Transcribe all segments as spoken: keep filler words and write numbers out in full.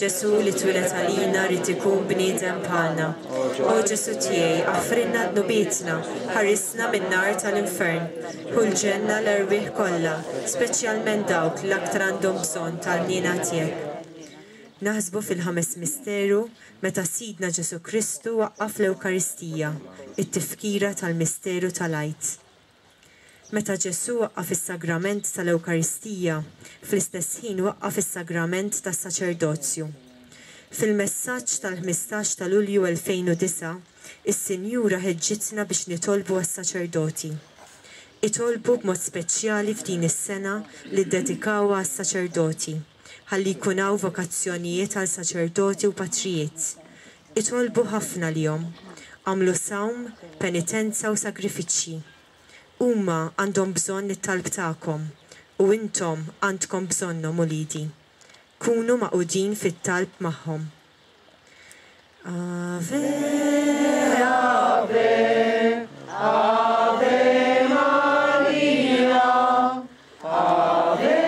Ġesù li twieled għalina rid ikun bniedem bħalna. O Ġesù tiegħi, aħfrilna dnubietna, ħarisna min-nar tal-infern, ħu l-ġenna l-erwieħ kollha, speċjalment dawk li l-aktar għandhom bżonn tal-ħniena tiegħek. Naħsbu fil-ħames misteru meta Sidna Ġesù Kristu waqqaf l-Ewkaristija, it-tifkira tal-misteru tal-Għid. Meta Ġesù waqqaf is-sagrament tal-Ewkaristija, fl-istess ħin waqqaf is-sagrament tas-saċerdozju. Fil-messaġġ tal-ħmistax ta' Lulju elfejn u disgħa, is-Sinjura ħeġġitna biex nitolbu għas-saċerdoti. Itolbu b'mod speċjali f'din is-sena li ddedikawha għas-saċerdoti, ħalli jkun hawn vokazzjonijiet għal saċerdoti u patrijiet. Itolbu ħafna lihom, għamlu sawm, penitenza u sagrifiċċji. Huma għandhom bżonn it-talb tagħkom u intom għandkom bżonnhom uliedi. Kunu maqudin fit-talb magħhom. Ave, Ave, Ave Maria, Ave,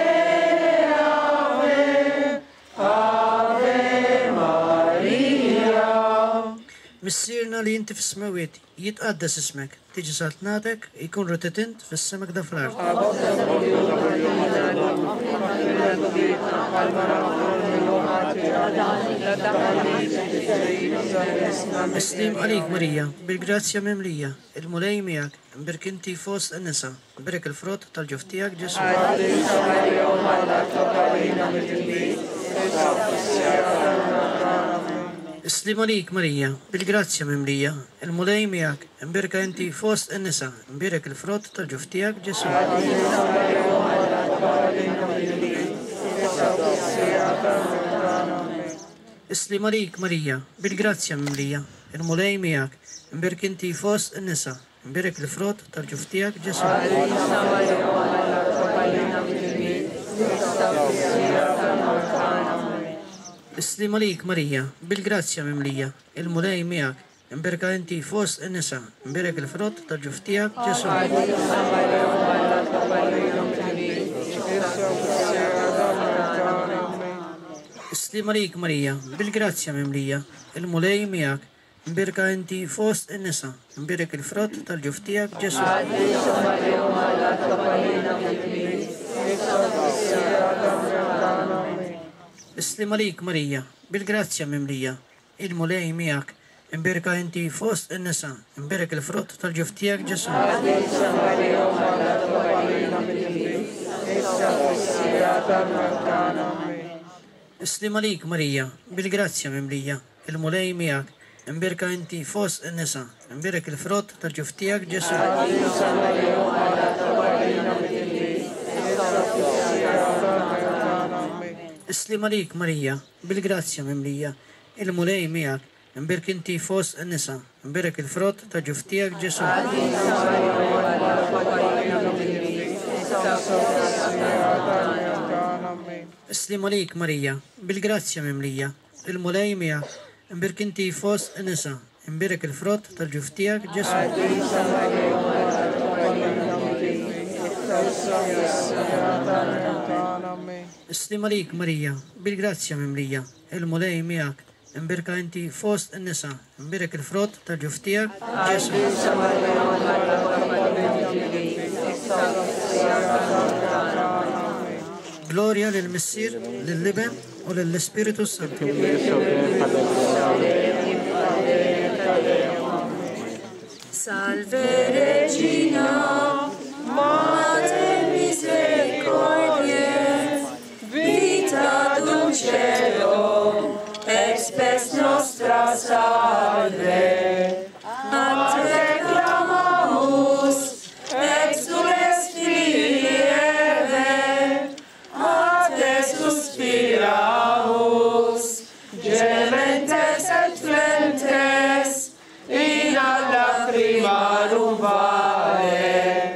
Ave, Ave Maria. Missierna li inti fis-smewwiet, jitqaddes ismek, tiġi saltnatek, ikun ridet int fis-sema kda fl-art. Islim għalik Marija, bil-grazzja mimlija, il-Mulej miegħek, imbierek inti fost in-nisa, imbierek il-frott tal-ġuf tiegħek Ġesù. Islim għalik Marija, bil-grazzja mimlija, il-Mulej miegħek, imbierka inti fost in-nisa, imbierek il-frott tal-ġuf tiegħek Ġesù. Islim għalik Marija, bil-grazzja mimlija, il-Mulej miegħek, imbierek inti fost in-nisa, imbierek il-frott tal-ġuf tiegħek Ġesù. Islim għalik Marija, bil-grazzja mimlija, il-Mulej miegħek, imbierka inti fost in-nisa, imbierek il-frott tal-ġuf tiegħek Ġesù. Islim għalik Marija, bil-grazzja mimlija, il-Mulej miegħek, imbierka inti fost in-nisa, imbierek il-frott tal-ġuf tiegħek Ġesù. Islim għalik Marija, bil-grazzja mimlija, il-Mulej miegħek, imbierka inti fost in-nisa, imbierek il-frott tal-ġuf tiegħek Ġesù. Islim għalik Marija, bil-grazzja mimlija, il-Mulej miegħek, imbierka inti fost in-nisa, imbierek il-frott tal-ġuf tiegħek Ġesù. Islim għalik Marija, bil-grazzja mimlija, il-Mulej miegħek, imbierek inti fost in-nisa, imbierek il-frott ta' ġuf tiegħek Ġesù. Islim għalik Marija, bil-grazzja mimlija, il-Mulej miegħek, imbierek inti fost in-nisa, imbierek il-frott tal-ġuf tiegħek Ġesù. Islim għalik Marija, bil-grazzja mimlija, il-Mulej miegħek, imbierka inti fost in-nisa, imbierek il-frott tal-ġuf tiegħek Ġesù. Gloria lill-Missier, lill-Iben u lill-Ispiritu Santu. Salve Regina, Mater misericordiae, vita dulcedo, et spes nostra salve. A te clamamus, exules filii Eve, a te suspiramus, gementes et flentes, in ad lacrimarum vale.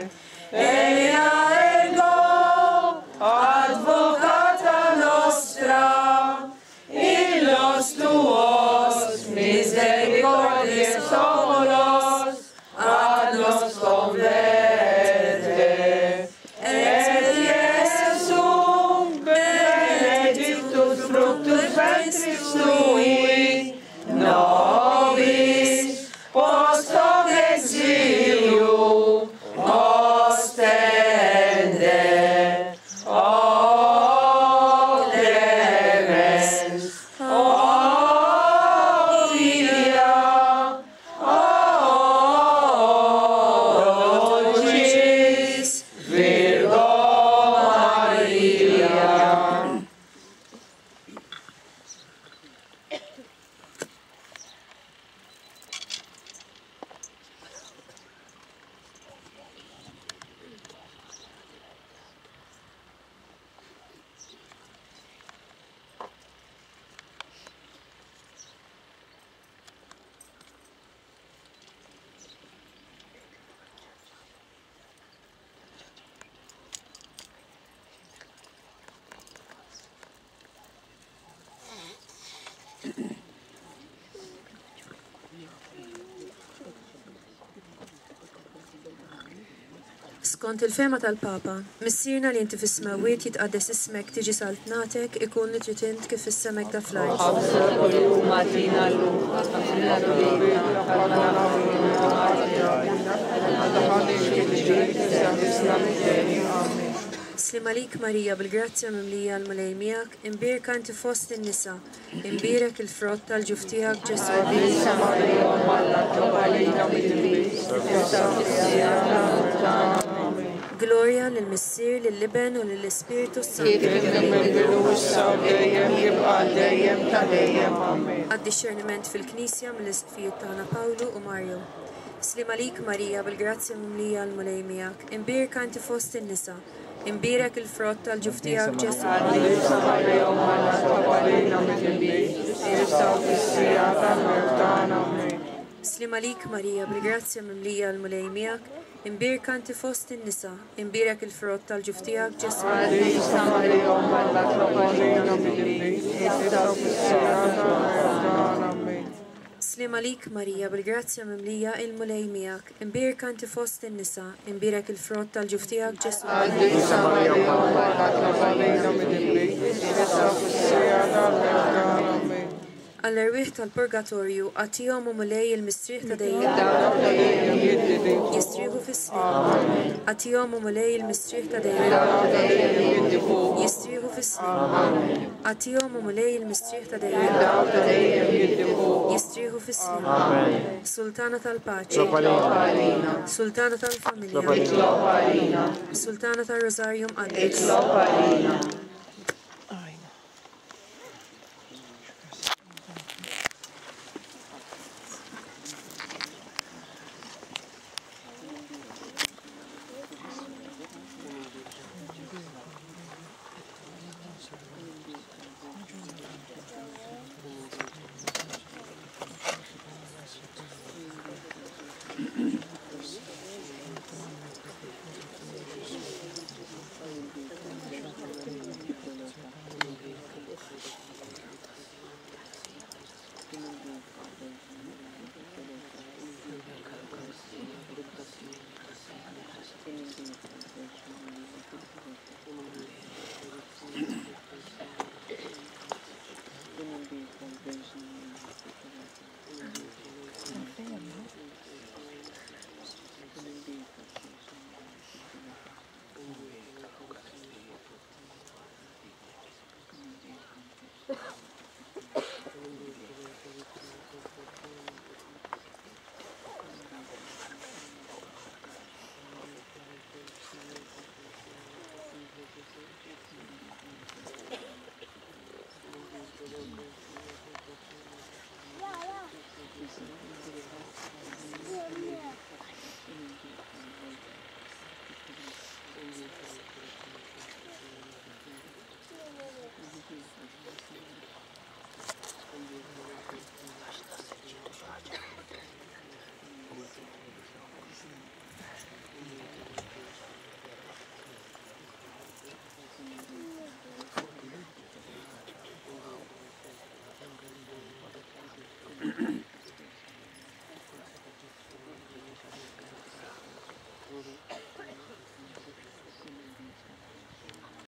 Skont il-fehma tal-Papa, Missierna li inti fis-smewwiet jitqaddes ismek, tiġi saltnatek, ikun li trid int kif fis-sema hekk fl-art. Ħobżna kuljum agħtina llum, aħfrilna dnubietna bħalma naħfru Slim għalik Marija, bil-grazzja mimlija l-Mulej miegħek, imbierka inti fost in-nisa, imbierek il-frott tal-ġuf tiegħek Ġesù. Qaddisa Marija, Omm Alla, itlob għalina midinbin, issa u fis-siegħa tal-mewt tagħna. Amen. Glorja lill-Missier, lill-Iben u lill-Ispirtu s-Santu. Kif kien mill-bidu issa u dejjem jibqa' dejjem ta' dejjem. Amen. Għad-dixxerniment fil-Knisja mill-Isqfijiet tagħna Pawlu u Mario. Slim għalik Marija, bil-grazzja mimlija l-Mulej miegħek, imbierka inti fost in-nisa, imbierek il-frott tal-ġuf tiegħek Ġesù. Qaddisa Marija, Omm Alla, itlob għalina midinbin, issa u fis-siegħa tal-mewt tagħna. Amen. Slim għalik Marija, bil-grazzja mimlija l-Mulej miegħek, imbierka inti fost in-nisa, imbierek il-frott tal-ġuf tiegħek Ġesù. Qaddisa Marija, Omm Alla, itlob għalina midinbin, issa u fis-siegħa tal-mewt tagħna. Amen. Slim għalik Marija, bil-grazzja mimlija il-Mulej miegħek, imbierka inti fost in-nisa, imbierek il-frott tal-ġuf tiegħek Ġesù. Qaddisa Marija, Omm Alla, itlob għalina midinbin, issa u fis-siegħa tal-mewt tagħna. Amen. Għall-erwieħ tal-purgatorju, agħtihom o Mulej il-mistrieħ ta' dejjem. Dawk ta' dejjem jiddi fuq. Jistrieħu fis-sliem. Agħtihom o Mulej il-mistrieħ ta' dejjem. Dawk ta' dejjem jiddi fuq. Jistrieħu fis-sliem. Agħtihom o Mulej il-mistrieħ ta' dejjem. Dawk ta' dejjem jiddi fuq. Jistrieħu fis-sliem. Sultana tal-paċi. Itlob għalina. Sultana tal-familja. Itlob għalina. Sultana tar-Rożarju Mqaddes. Itlob għalina.